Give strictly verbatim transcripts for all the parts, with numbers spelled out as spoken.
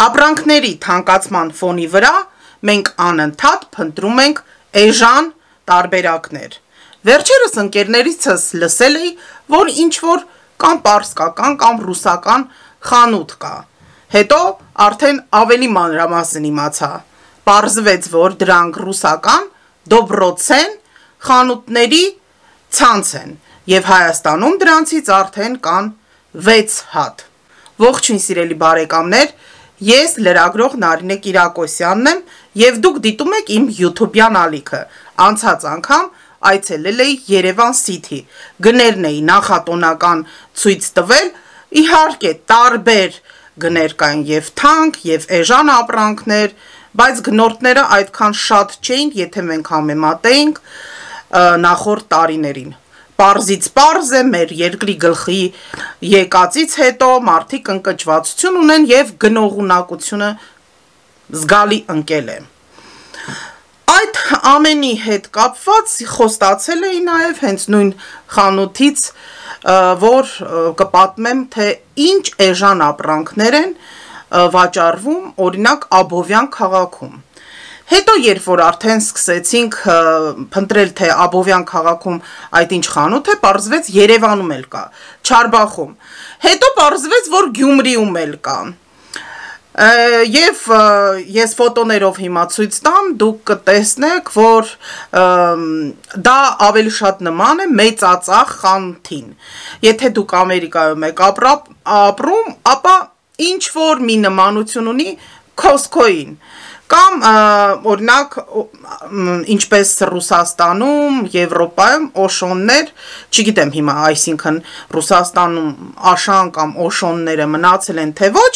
Ապրանքների թանկացման ֆոնի վրա մենք անընդհատ փնտրում ենք էժան տարբերակներ։ Վերջերս ընկերներիցս լսել էի, որ ինչ-որ կամ պարսկական կամ ռուսական խանութ կա։ Հետո արդեն ավելի մանրամասն իմացա։ Պարզվեց, որ դրանք ռուսական դոբրոցեն խանութների ցանց են, եւ Հայաստանում դրանցից արդեն կան վեց հատ։ Ողջույն սիրելի բարեկամներ, ես լրագրող Նարինե Կիրակոսյանն եմ եւ դուք դիտում եք իմ YouTube-յան ալիքը։ Անցած անգամ այցելել էի Երևան City, գներն էի նախատոնական ցույց տվել, իհարկե տարբեր գներ կային եւ թանկ եւ էժան ապրանքներ, բայց գնորդները այդքան շատ չէին, եթե մենք համեմատեինք նախորդ տարիներին։ Պարզից պարզ է մեր երկրի գլխի եկածից հետո մարդիկ ընկճվածություն ունեն եւ գնողունակությունը զգալի ընկել է։ Այդ ամենի հետ կապված խոստացել էի նաեւ հենց նույն խանութից, որ կպատմեմ, թե ինչ էժան ապրանքներ են վաճառվում, օրինակ Աբովյան քաղաքում։ Հետո երբ որ արդեն սկսեցինք փնտրել, թե Աբովյան քաղաքում այդ ինչ խանութ է, պարզվեց Երևանում էլ կա, Չարբախում։ Հետո պարզվեց, որ Գյումրիում էլ կա։ Եվ ես ֆոտոներով հիմա ցույց տամ, դուք կտեսնեք, որ դա ավելի շատ նման է մեծածախ խանութին։ Եթե դուք Ամերիկայում եք ապրում, ապա ինչ որ մի նմանություն ունի Costco-ին։ Կամ օրինակ ինչպես Ռուսաստանում, Եվրոպայում օշոններ, չգիտեմ հիմա, այսինքն Ռուսաստանում աշան կամ օշոնները մնացել են թե ոչ,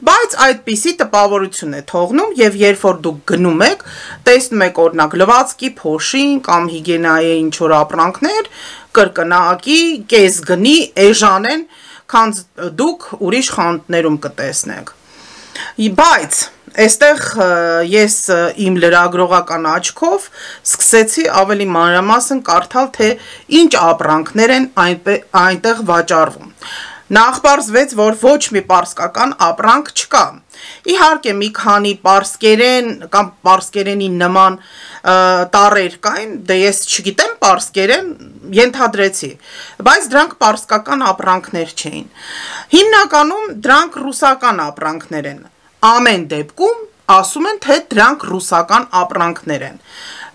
բայց այդպիսի տպավորություն է թողնում եւ երբ որ դուք գնում եք, տեսնում եք օրինակ լվացքի փոշին կամ հիգիենայի ինչ որ ապրանքներ, կրկնակի, կեսգնի, էժան են, քան դուք ուրիշ խանութներում կտեսնեք։ Բայց Այստեղ ես իմ լրագրողական աչքով սկսեցի ավելի մանրամասն կարդալ, թե ինչ ապրանքներ են այնտեղ վաճառվում։ Նախ պարզվեց, որ ոչ մի պարսկական ապրանք չկա։ Իհարկե մի քանի պարսկերեն կամ պարսկերենի նման տառեր կային, դե ես չգիտեմ պարսկերեն, ենթադրեցի, բայց դրանք պարսկական ապրանքներ չէին։ Հիմնականում դրանք ռուսական ապրանքներ են։ Ամեն դեպքում ասում են, թե դրանք ռուսական ապրանքներ են,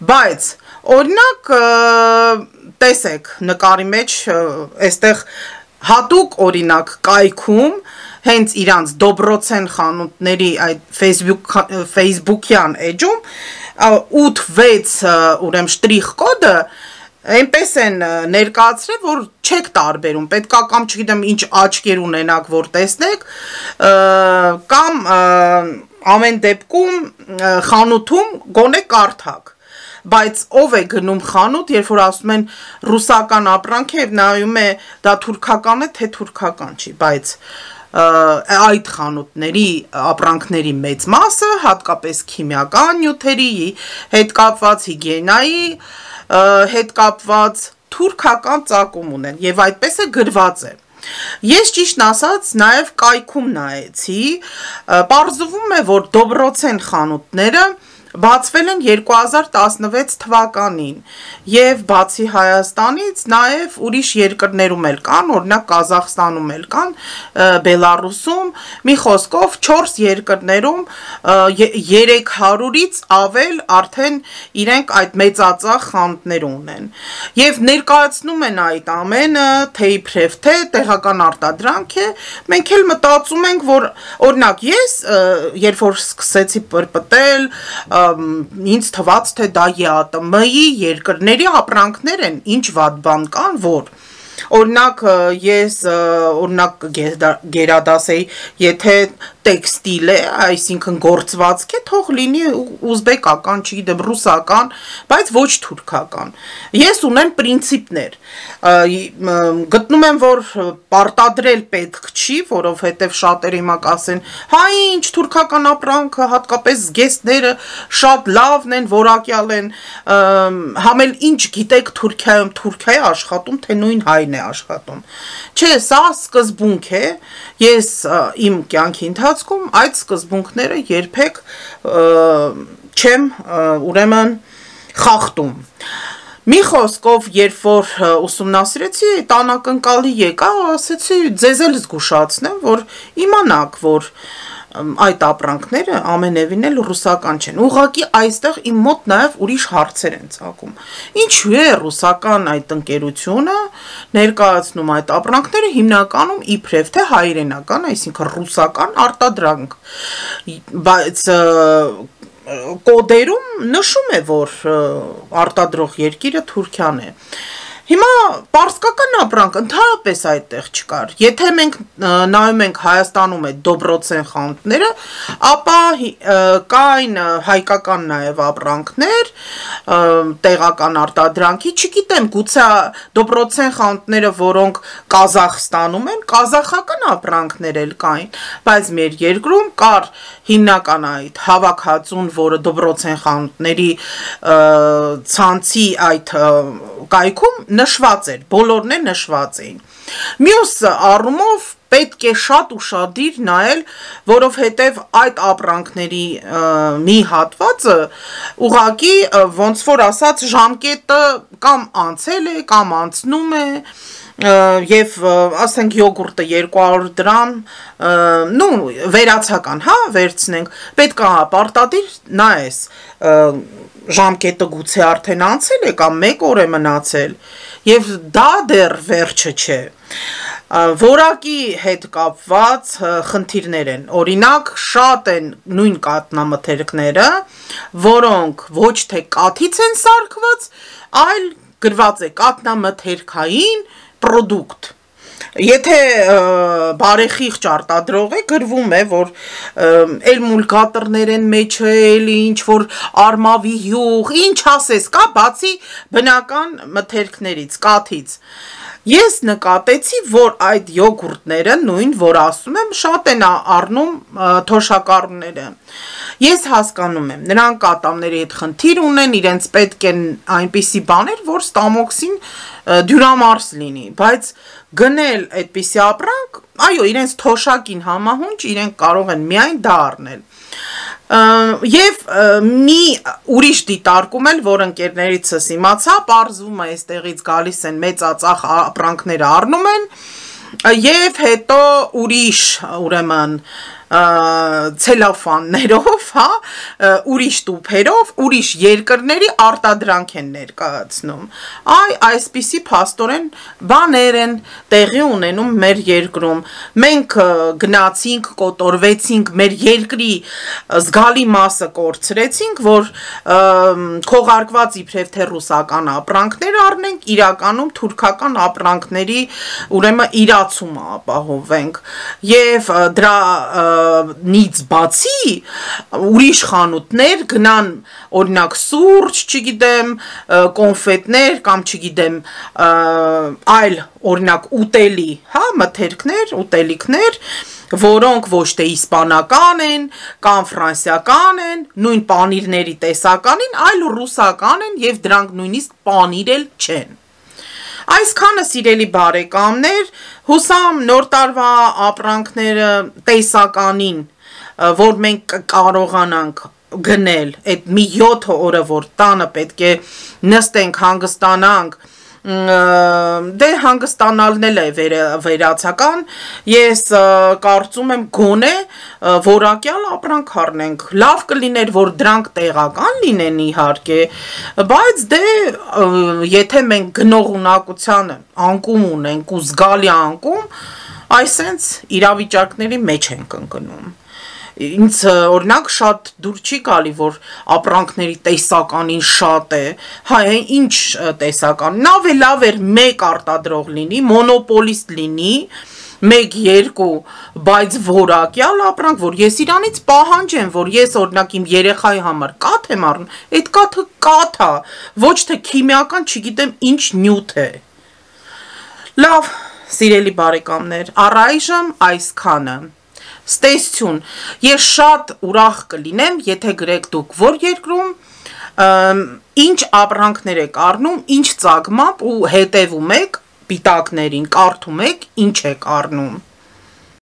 բայց օրինակ տեսեք նկարի մեջ այստեղ հատուկ օրինակ կայքում հենց իրանց դոբրոցեն խանութների այդ Facebook Facebook-յան էջում ութ վեց ուրեմն շտրիխ կոդը այնպես են ներկայացրել, որ չեք տարբերում, պետքա կամ չգիտեմ ինչ աչքեր ունենաք, որ տեսնեք, կամ ամեն դեպքում խանութում գոնե կարդաք, բայց ով է գնում խանութ, երբ որ ասում են ռուսական ապրանք է, նայում է դա թուրքական է, թե թուրքական չի, բայց այդ խանութների ապրանքների մեծ մասը, հատկապես քիմիական նյութերի հետ կապված հիգիենայի հետ կապված թուրքական ծագում ունեն եւ այդպես է գրված է։ Ես ճիշտ ասած նաեւ կայքում նայեցի, պարզվում է, որ դոբրոցեն խանութները բացվել են երկու հազար տասնվեց թվականին եւ բացի Հայաստանից նաեւ ուրիշ երկրներում էլ կան, օրինակ Կազախստանում էլ կան, Բելարուսում, մի խոսքով չորս երկրներում երեք հարյուրից ավել արդեն իրենք այդ մեծածախ խանութներ ունեն։ Եվ ներկայացնում են այդ ամենը, թե իբրև թե տեղական արտադրանք է, մենք էլ մտածում ենք, որ օրինակ ես երբ որ սկսեցի պրպտել ինձ թվաց, թե դա ԵԱՏՄ-ի երկրների ապրանքներ են, ինչ վատ բան կան, որ օրինակ ես օրինակ գերադասեի, եթե տեքստիլ է, այսինքն գործվածք է, թող լինի ուզբեկական, չգիտեմ, ռուսական, բայց ոչ թուրքական։ Ես ունեմ պրինցիպներ։ Գտնում եմ, որ պարտադրել պետք չի, որովհետև շատերը հիմա կասեն, հա ինչ թուրքական ապրանքը, հատկապես զգեստները շատ լավն են, որակյալ են, համել ինչ գիտեք Թուրքիայում, Թուրքիայի աշխատում, թե նույն հայն է աշխատում։ Չէ, սա սկզբունք է, ես իմ կյանքի ընթացքում ընթացքում այդ սկզբունքները երբեք չեմ ուրեմն խախտում։ Մի խոսքով, երբ որ ուսումնասիրեցի, այդ անակնկալի եկա, ասեցի ձեզ էլ զգուշացնեմ, որ իմանաք, որ այդ ապրանքները ամենևին էլ ռուսական չեն։ Ուղղակի այստեղ իմ մոտ նաև ուրիշ հարցեր են ծագում։ Ինչու է ռուսական այդ ընկերությունը ներկայացնում այդ ապրանքները հիմնականում իբրև թե հայրենական, այսինքն ռուսական արտադրանք, բայց կոդերում նշում է, որ արտադրող երկիրը Թուրքիան է։ Հիմա պարսկական ապրանք ընդհանրապես այդտեղ չկար։ Եթե մենք նայում ենք Հայաստանում այդ դոբրոցեն խանութները, ապա կային հայկական նաև ապրանքներ, տեղական արտադրանքի, չգիտեմ, գուցե դոբրոցեն խանութները, որոնք Կազախստանում են, կազախական ապրանքներ էլ կային, բայց մեր երկրում կար հիմնական այդ հավաքածուն, որը դոբրոցեն խանութների ցանցի այդ կայքում նշված էր, բոլորն է նշված էին։ Մյուս առումով պետք է շատ ուշադիր նայել, որովհետև այդ ապրանքների մի հատվածը ուղղակի ոնց որ ասած ժամկետը կամ անցել է, կամ անցնում է, և ասենք յոգուրտը երկու հարյուր դրամ, նու վերացական, հա, վերցնենք, պետք է պարտադիր նայես, ժամկետը գուցե արդեն անցել է, կամ մեկ օր է մնացել, և դա դեռ վերջը չէ։ Որակի հետ կապված խնդիրներ են, օրինակ շատ են նույն կաթնամթերքները, որոնք ոչ թե կաթից են սարքված, այլ գրված է կաթնամթերքային պրոդուկտ։ Եթե բարեխիղճ արտադրող է, գրվում է, որ էլմուլգատորներ են մեջը, էլի ինչ-որ արմավի հյուղ, ինչ ասես կա, բացի բնական մթերքներից, կաթից։ Ես նկատեցի, որ այդ յոգուրտները, նույն, որ ասում եմ, շատ են առնում թոշակառուները։ Ես հասկանում եմ, նրանք կատամների հետ խնդիր ունեն, իրենց պետք են այնպիսի բաներ, որ ստամոքսին դյուրամարս լինի, բայց գնել այդպիսի ապրանք, այո, իրենց թոշակին համահունչ, իրենք կարող են միայն դա առնել։ Եվ մի ուրիշ դիտարկում էլ, որ ընկերներիցս իմացա, պարզվում է այստեղից գալիս են մեծածախ ապրանքները առնում են, և հետո ուրիշ, ուրեմն, ցելոֆաններով, հա, ուրիշ տուփերով, ուրիշ երկրների արտադրանք են ներկայացնում։ Այ այսպիսի փաստորեն բաներ են տեղի ունենում մեր երկրում։ Մենք գնացինք, կոտորվեցինք, մեր երկրի զգալի մասը կորցրեցինք, որ քողարկված իբրև թե ռուսական ապրանքներ առնենք, իրականում թուրքական ապրանքների ուրեմն իրացումը ապահովենք։ Եվ դրա նից բացի ուրիշ խանութներ գնան օրինակ սուրճ, չգիտեմ, կոնֆետներ կամ չգիտեմ այլ օրինակ ուտելի, հա, մթերքներ, ուտելիքներ, որոնք ոչ թե իսպանական են կամ ֆրանսիական են, նույն պանիրների տեսականին, այլ ռուսական են և դրանք նույնիսկ պանիր էլ չեն։ Այսքանը սիրելի բարեկամներ, հուսամ նոր տարվա ապրանքները տեսականին, որ մենք կարողանանք գնել այդ մի յոթ օրը, որ տանը պետք է նստենք, հանգստանանք, դե հանգստանալն էլ է վերացական, ես կարծում եմ գոնե որակյալ ապրանք առնենք, լավ կլիներ, որ դրանք տեղական լինեն իհարկե, բայց դե եթե մենք գնող ունակությանը անկում ունենք ու զգալի անկում, այսենց իրավիճակների մեջ ենք ընկնում։ Ինձ օրինակ շատ դուր չի գալի, որ ապրանքների տեսականին շատ է, հա, ինչ տեսական, լավ է, լավ էր մեկ արտադրող լինի, մոնոպոլիստ լինի, մեկ երկու, բայց որակյալ ապրանք, որ ես իրանից պահանջեմ, որ ես օրինակ իմ երեխայի համար կաթ եմ առնում, այդ կաթը կաթ է, ոչ թե քիմիական, չգիտեմ ինչ նյութ է։ Լավ, սիրելի բարեկամներ, առայժմ այսքանը։ Ստեսություն, ես շատ ուրախ կլինեմ, եթե գրեք դուք որ երկրում, ինչ ապրանքներ եք առնում, ինչ ծագմամբ ու հետևում եք պիտակներին, կարդում եք, ինչ եք առնում։